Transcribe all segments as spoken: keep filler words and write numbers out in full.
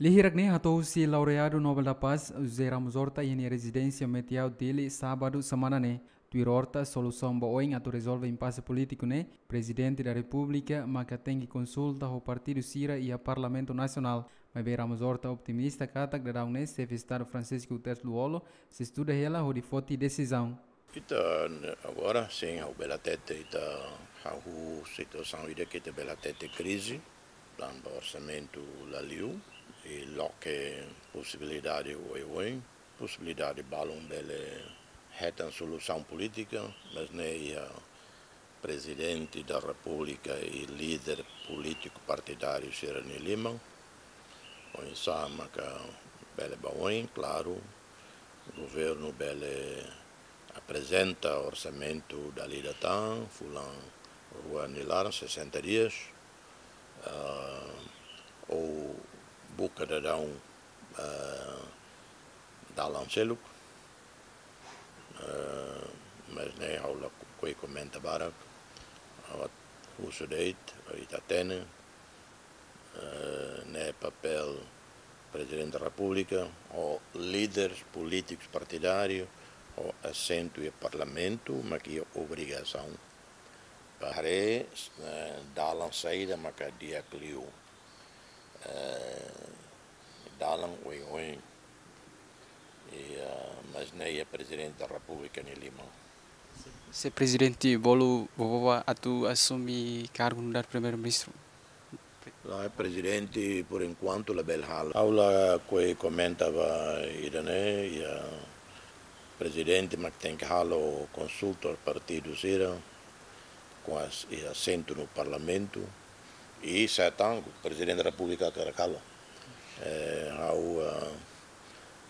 Lia hirak ne'e hato'o husi laureadu Nobel da Paz, José Ramos Horta, iha nia rezidénsia Metiau, Dili, sábadu semana ne'e. Tuir Horta, solusaun ba oin atu rezolve impase polítiku ne'e, Prezidente da Repúblika maka tenke konsulta ho partidu sira iha Parlamentu Nasionál. Maibé Ramos Horta optimista katak daudaun ne'e Xefe Estadu Francisco Guterres Lú-Olo sei estuda hela hodi foti desizaun. Ita, agora sin, ha'u bele hatete, ita hahú situasaun ida ke ita bele hatete krize, tanba orsamentu la liu, i loke posibilidade oioin, posibilidade balun bele hetan solusaun polítika, mas ne'e iha Prezidente da Repúblika i líder polítiku partidáriu sira-nia liman. Oinsá maka bele ba oin, klaru, governu bele aprezenta orsamentu dala ida tan, fulan rua nia laran, sessenta dias, ah, ou buka daudaun, ah, dalan seluk. Eh, mas ne'e ha'u lakohi komenta barak, ha'u husu de'it, ita hatene, eh, ne'e papél Prezidente da Repúblika, ho líderes polítikus partidáriu, ho asentu iha Parlamentu, mak iha obrigasaun ba haree, eh, dalan saida maka di'ak liu. Eh, dalan oioin. I, ah, mas ne'e iha Prezidente da Repúblika nia liman. Se Prezidente bolu Vovó atu asume kargu nu'udar Primeiru-Ministru? Lae, Prezidente, por enkuantu, labele halo. Ha'u lakohi komenta ba ida-ne'e, iha Prezidente mak tenke halo konsulta partidu sira, ho as-, iha asentu no Parlamentu, i se tan Prezidente da Repúblika hakarak halo. Eh, ha'u, ah,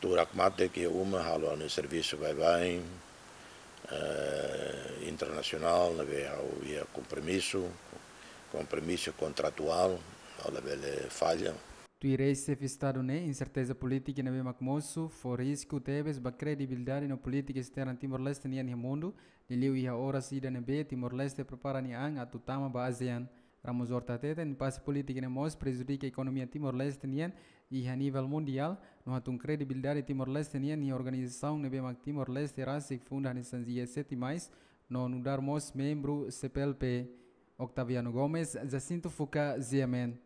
tuur hakmatek iha uma halo ha'u-nia servisu baibain, eh, internasionál, ne'ebé ha'u iha kompromisu, kompromisu kontratuál, ha'u labele falla. Tuir eis-Xefe Estadu ne'e, inserteza polítika ne'ebé mak mosu fó risku tebes ba kredibilidade no polítika esterna Timor-Leste nian iha mundu, liuliu iha oras ida ne'ebé Timor-Leste prepara nia an atu tama ba ASEAN. Ramos Horta hateten, impase polítika ne'e mós prejudika ekonomia Timor-Leste nian iha nivel mundiál, no hatún kredibilidade Timor-Leste nian iha organizasaun ne'ebé mak Timor-Leste rasik funda hanesan G sete mais, no nu'udar mós membru C P L P. Octaviano Gomes, Jacinto Fuca, G M N.